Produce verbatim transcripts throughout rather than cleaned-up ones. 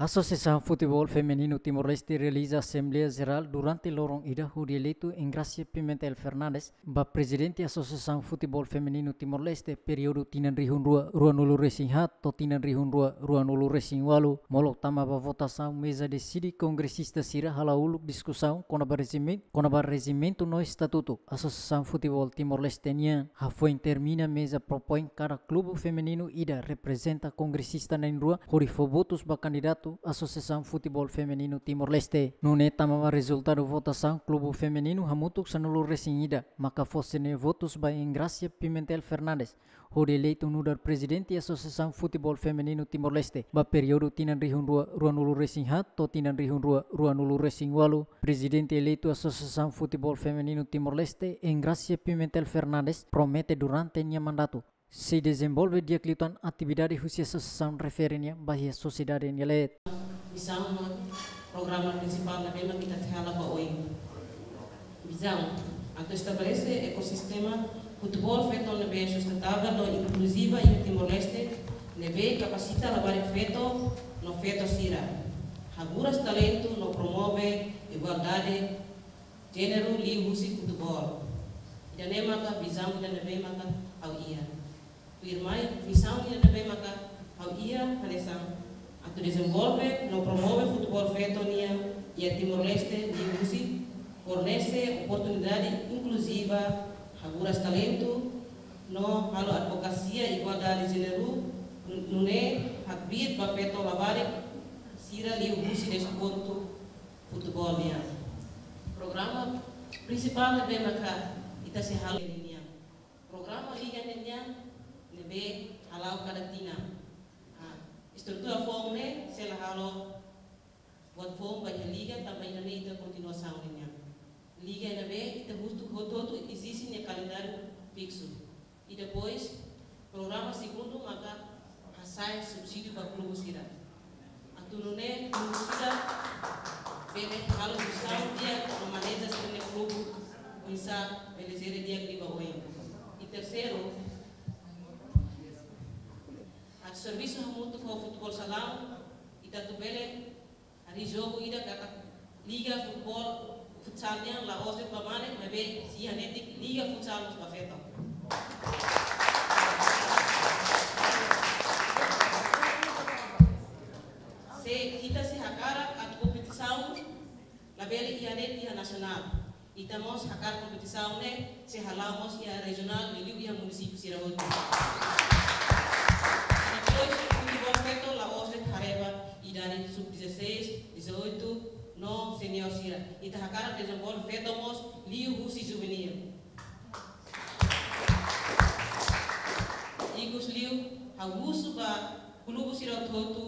Asosiasaun Futeból Femininu Timor-Leste realiza Asembleia Jerál durante loron ida hodi eleitu Engrácia Pimentel Fernandes ba Prezidente Asosiasaun Futeból Femininu Timor-Leste períodu tinan rihun rua ruanulu resin haat to'o tinan rihun rua ruanulu resin ualu. Molok tama ba votasaun, meza deside kongresista sira hala'o uluk diskusaun kona-ba rejimen-, kona-ba rejimentu no estatutu Asosiasaun Futeból Timor-Leste nian. Hafoin termina, meza propoin kada klubu femininu ida reprezenta kongresista na'in-rua hodi fó votus ba kandidatu Asosiasaun Futeból Femininu Timor-Leste. Nune'e tama ba rezultadu votasaun, klubu femininu hamutuk sanulu resin ida maka fó sira-nia votus ba Engrácia Pimentel Fernandes hodi eleitu nu'udar Prezidente Asosiasaun Futeból Femininu Timor-Leste ba períodu tinan rihun rua ruanulu resin haat to'o tinan rihun rua ruanulu resin ualu. Prezidente eleitu Asosiasaun Futeból Femininu Timor-Leste, Engrácia Pimentel Fernandes, promete durante nia mandatu sei dezenvolve di'ak liután atividade husi asosiasaun refere nian ba iha sosiedade nia leet. Misaun no programa prinsipál ne'ebé mak ita sei hala'o ba oin. Vizaun: atu estabelese ekosistema futeból feto ne'ebé sustentável no inkluziva iha Timor-Leste, ne'ebé kapasita labarik feto no feto sira, haburas talentu no promove igualdade jéneru liuhusi futeból. Ida-ne'e maka vizaun ida ne'ebé maka ha'u iha. Tuirmai, misaun ida ne'ebé maka ha'u iha hanesan atu dezenvolve no promove futeból feto nian iha Timor-Leste liuhusi fornese oportunidade inkluziva, haburas talentu, no halo advokasia igualdade jéneru, nune'e hakbiit ba feto labarik sira liuhusi desportu futeból nian. Programa prinsipál ne'ebé maka ita sei hala'o nian. Programa liga ne'e nian ne'ebé hala'o kada tinan. Ah, estrutura foun ne'e sei la halo buat foun ba iha liga, tanba ida-ne'e ita kontinuasaun nian. Liga ne'ebé ita husu hotu-hotu eziste nia kalendáriu fiksu. I depois, programa segundu maka hasa'e subsídiu ba klubu sira. Atu nune'e klubu sira bele halo jestaun di'ak no maneja sira-nia klubu, oinsá bele jere di'ak liu ba oin. I terseiru, atu servisu hamutuk ho futeból salaun, ita atu bele harii jogu ida katak liga futeból futsal nian la'ós de'it ba mane, maibé sei hanetik liga futsal mós ba feto. Se ita sei hakarak atu kompetisaun labele iha de'it iha nasionál, ita mós hakarak kompetisaun ne'e sei hala'o mós iha rejionál, liuliu iha munisípiu sira hotu. Depois, futeból feto la'ós de'it haree ba idade sub dezasseis, dezoito, no senior sira. Ita hakarak dezenvolve feto mós liuhusi juvenil. Ikusliu, ha'u husu ba klubu sira hotu-hotu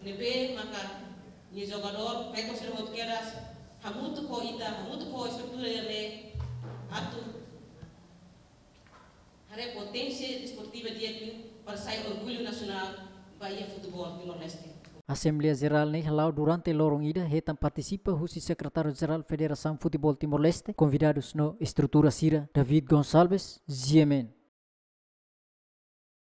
ne'ebé maka nia jogadór feto sira hotu kedas, hamutuk ho ita, hamutuk ho estrutura ida-ne'e, atu haree poténsia desportiva di'ak liu para sai orgullu nasionál ba iha futeból Timor-Leste. Asembleia Jerál ne'e hala'o durante loron ida, hetan partisipa husi Sekretáriu Jerál Federasaun Futeból Timor-Leste, konvidadus no estrutura sira. David Gonçalves, G M N.